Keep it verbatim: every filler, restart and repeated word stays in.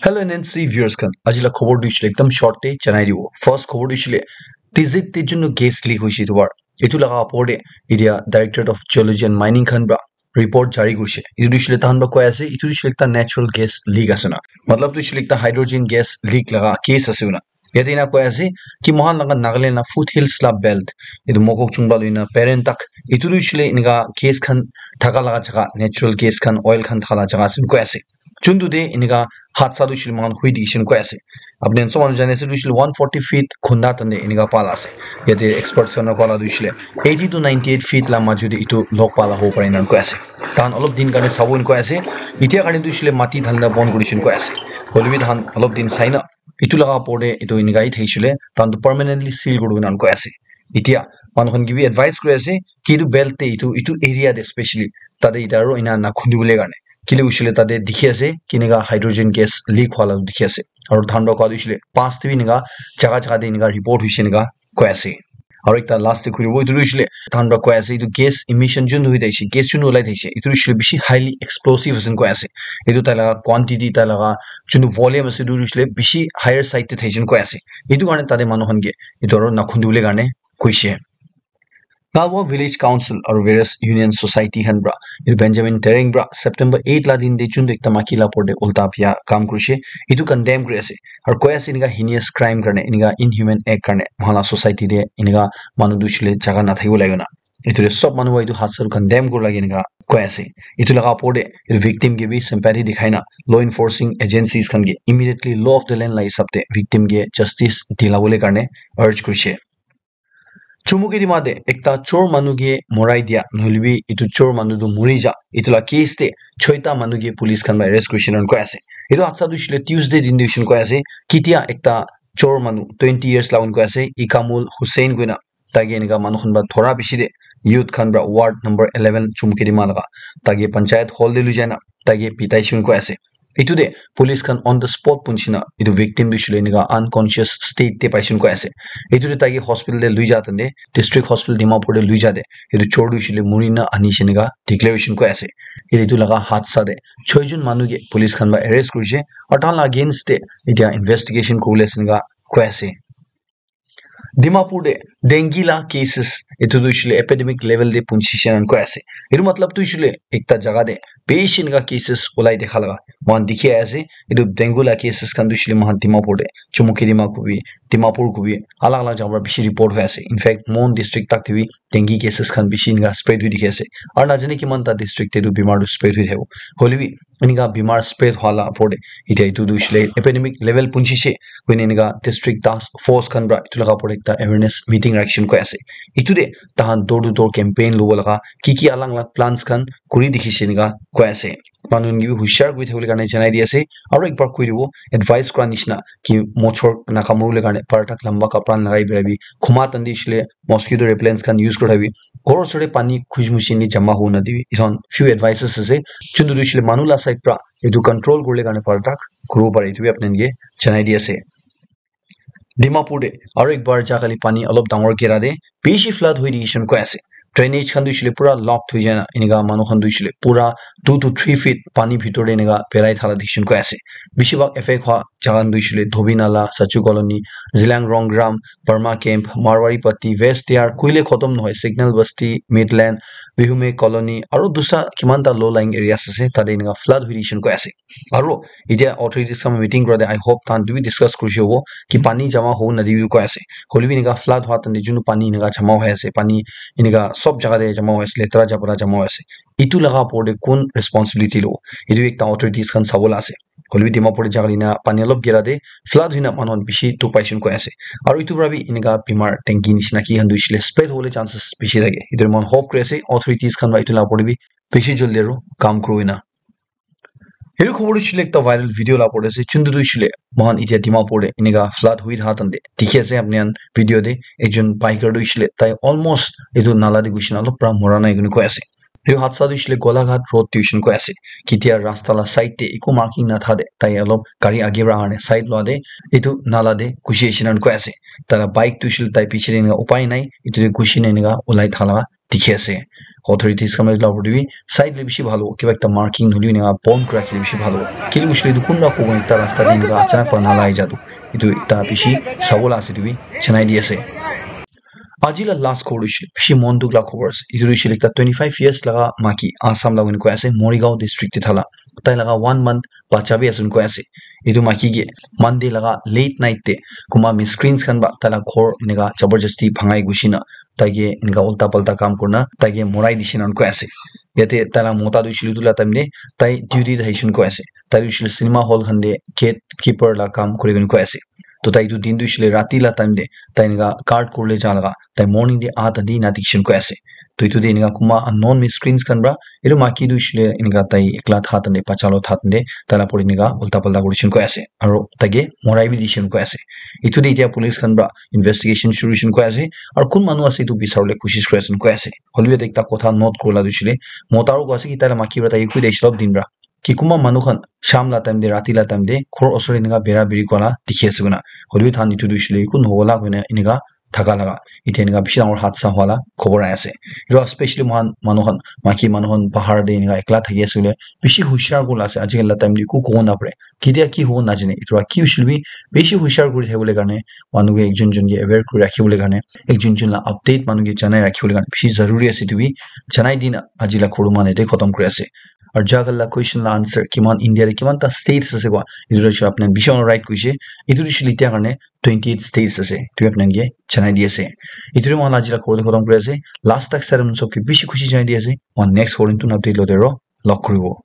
Hello N N C viewers khan, aji la khobor tu hoishe le ekdam short te janai dibo. First khobor tu hoishe le Tizit te junu gas leak hoishe etu bar. Etu laga opor te etia Directorate of Geology and Mining khan pra report jari kurishe. Etu tu hoishe le tahan pra koi ase, etu tu hoishe le ekta natural gas leak ase na. Matlab tu hoishe le ekta hydrogen gas leak laga case ase na. Yate ena koi ase ki mohan laga Nagaland la foothills la belt, etu Mokokchung pra loina Peren tak, etu tu hoishe le eneka gas khan thaka laga jaga, natural gas khan, oil khan thaka laga jaga ase koi ase. Chuntu te eneka hadsa tu hoishe le mohan hui dikhishe koi ase. Apni khan sob manu jane ase tu hoishe le one forty feet khunda tande eneka pala ase. Yate experts khan koa la tu hoishe le eighty to ninety-eight feet la maju te etu log pala hobo pare ena koi ase. Tahan olop din karne sabo koi ase. Etia karne tu hoishe le mati dhanda bon kuri dikhishe koi ase. Hoile bi tahan olop din sai na etu laga opor te etu eneka hi thakishe le tahan tu permanently seal kuri dina koi ase. Etia manu khan ke bi advice kuri ase ki etu belt te etu, etu area te specially tate eta aro ena na khundi bole karne. Kile hoishe le tate dikhi ase keneka hydrogen gas leak hwa la dikhi ase. Aro tahan pra koa tu hoishe le past te bi eneka jaga jaga te eneka report hoishe eneka koi ase. Aro ekta last te khuribo etu tu hoishe le tahan pra koi ase etu gas emission jun hui thakishe, gas jun ulai thakishe, etu tu hoishe le bishi highly explosive ase koi ase. Etu tai laga quantity, tai laga junu volume ase etu tu hoishe le bishi higher side te thakishe koi ase. Etu karne tate manu khan ke etu aro na khundi bole karne koishe. Gawa Village Council aru various Union Society khan pra etu Benjamin Tereng pra September eight la din te jun tu ekta maki la opor te ulta pia kam kurishe, etu condemn kuri ase. Aru koi ase eneka heinous crime karne, eneka inhuman act karne mohan la society te eneka manu tu hoishe le jaga na thakibo lage na. Etu te sob manu pra etu hadsa tu condemn kuri lage eneka koi ase. Etu laga opor te etu victim ke bi sympathy dikhai na law enforcing agencies khan ke immediately law of the land la hisab te victim ke justice dila bole karne urge kurishe. Chumukedima te ekta chor manu ke morai dia, nohoile bi etu chor manu tu mori ja, etu la case te choita manu ke police khan para arrest kurishe na koi ase. Etu hadsa tu hoishe le Tuesday din te hoishe koi ase, ketia ekta chor manu twenty years la koi ase, Ikamul Hussein koina, tai ke eneka manu khan para dhora piche te youth khan para ward number eleven Chumukedima laga, tai ke panchayat hall te lui jai na, tai ke pitai shun koi ase. Etu te police khan on the spot punchi na etu victim tu hoishe le eneka unconscious state te paishe koi ase. Etu te tai ke hospital te lui ja tande, district hospital Dimapur te lui ja te etu chor tu hoishe le muri na anishe eneka declaration koi ase. Etu laga hadsa te choi jun manu ke police khan para arrest kurishe aru tahan la against te etia investigation kuri bole ase eneka koi ase. Dimapur te dengue la cases etu tu hoishe le epidemic level te punchi she na koi ase. Etu matlab tu hoishe le ekta jaga te bishi eneka cases ulai dekha laga mohan dikhi ase. Etu dengue la cases khan tu hoishe le mohan Dimapur te, Chumukedima kobi, Dimapur kobi, alag alag jaga para bishi report hoi ase. In fact, Mon district tak te bi dengue cases khan bishi eneka spread hoi dikhi ase. Aru najane kiman ta district te tu bimar tu spread hoi thakibo. Hoile bi eneka bimar spread hwa la opor te etia etu tu hoishe le epidemic level punchi she koina eneka district task force khan para etu laga opor te ekta awareness meeting rakhi she koi ase. Etu te tahan door to door campaign lobo laga ki ki alag alag plans khan kuri dikhi she eneka koi ase. Manu khan ke bi hushar kuri thakibole karne janai di ase. Aru ekbar koi dibo, advice kura nishina ki mochor na kamuri bole karne par tak lamba kapra lagai bera bi khuma tandi hoishe le mosquito repellents khan use kuri thakibi. Ghor osor te pani khushi mushi ni jama hobo na dibi. Etu khan few advices ase. Chuntu tu hoishe le manu la side pra etu control kuri bole karne par tak kuri bo pare, etu bi apni khan ke janai di ase. Dimapur te aru ekbar ja kali pani olop dangor gera te bishi flood hoi dikhi she koi ase. Drainage khan tu hoishe le pura locked hoi jai na eneka manu khan tu hoishe le pura two to three feet pani bhitor te eneka berai thala dikhi she koi ase. Bishi bhag effect hwa jaga khan tu hoishe le Dhobi Nala, Sachu Colony, Zilang Rongram, Burma Camp, Marwari Patti, West Tiar, koile khotom nohoi, Signal Basti, Midland, Bihume Colony, aru dusra kiman ta low lying areas ase, tate eneka flood hoi dikhi she koi ase. Aru etia authorities khan meeting kura te I hope tahan tu bi discuss kurishe hobo ki pani jama hobo na dibi koi ase. Hoile bi eneka flood hwa tande junu pani eneka jama hoi ase, pani eneka sob jaga te jama hoi ase, letera jabra jama hoi ase. Etu laga opor te kun responsibility lobo? Etu ekta authorities khan sabo la ase. Hoile bi Dimapur te jaga dina pani olop gera te flood hoina manu khan bishi dukh paishe koi ase. Aru etu para bi eneka bimar dengue nishina ki khan tu hoishe le spread hobole chances bishi thake. Etu moi khan hope kuri ase authorities khan para etu la opor te bi bishi jaldi aru kam kuri na. Etu khobor tu hoishe le ekta viral video la opor te ase. Chuntu tu hoishe le moi khan etia Dimapur te eneka flood hoi thaha time te dikhi ase apni khan video te ekjon biker tu hoishe le tai almost etu nala te ghusi na olop para mora nai koi kena koi ase. Etu hadsa tu hoishe le Golaghat road te hoishe koi ase. Ketia rasta la side te eku marking na tha de tai olop gari age para ahane side lua de etu nala te ghusi ahishe na koi ase. Tai la bike tu hoishe le tai piche te eneka upai nai etu te ghusi na eneka ulai tha la dikhi ase. authorities khan la opor te bi side le bishi bhal hobo, kiba ekta marking nahoi le eneka bon kuri rakhile bishi bhal hobo. Kile koishe le etu kunba kobo ekta rasta te eneka achanak para nalai ja tu, etu ekta bishi sabo la ase, etu bi janai di ase. Aji la last khobor hoishe le bishi mon dukh la khobor ase. Etu hoishe le ekta twenty five years laga maki, Assam la hoina koi ase, Morigaon district te thala. Tai laga one month bacha bi ase hoina koi ase. Etu maki ke Monday laga late night te kunba miscreants khan para tai la ghor eneka jabardasti bhangai gushi na tai ke eneka ulta palta kam kurina tai ke morai dishe na hoina koi ase. Yate tai la mota tu hoishe le etu la time te tai duty te thaishe hoina koi ase. Tai tu hoishe le cinema hall khan te gatekeeper la kam kuri kena koi ase. To tai etu din tu hoishe le rati la time te tai eneka guard kuribole ja laga, tai morning te aha time te ena dikhi kena koi ase. To etu te eneka kunba unknown miscreants khan para etu maki tu hoishe le eneka tai ekla tha time te, bacha loi tha time te tai la opor te eneka ulta palta kuri kena koi ase. Aru tai ke morai bi dishe kena koi ase. Etu te etiya police khan para investigation shuru hoishe kena koi ase. Aru kun manu ase etu bisaribole koshish kuri ase kena koi ase. Hoilebi yate ekta kotha note kuribole tu hoishe le mota para koi ase ki tai la maki para tai ke koi dia hoishe le olop din para ki kunba manu khan sham la time te, rati la time te ghor osor te eneka bera beri kura la dikhi ase koina. Hoilebi tahan etu tu hoishe le eku nohobo la koina eneka thaka laga, etiya eneka bishi dangor hadsa hua la khobor ahi ase. Etu especially moikhan manu khan, maiki manu khan bahar te eneka ekla thaki ase koile bishi hushiar kuribole ase. Ajikali la time te eku kobo napare, ketia ki hobo najane. Etu para ki hoishe le bi bishi hushiar kuri thakibole karne, manu ke ekjon jon ke aware kuri rakhibole karne, ekjon jon la update manu ke janai rakhibole karne bishi zaruri ase. Etu bi janai dina aji la khuru mane te khotom kuri ase. Aru jaga la question la answer, kiman India te kiman ta states ase koa, etu tu apni khan bishi right koise. Etu tu hoishe le etiya karne twenty eight states ase, etu apni khan ke janai di ase. Etu tu moikhan la aji la khobor tu khotom kuri ase. Last tak sai kena sob ke bishi khushi janai di ase. Moikhan next khobor tu update lote aro log kuribo.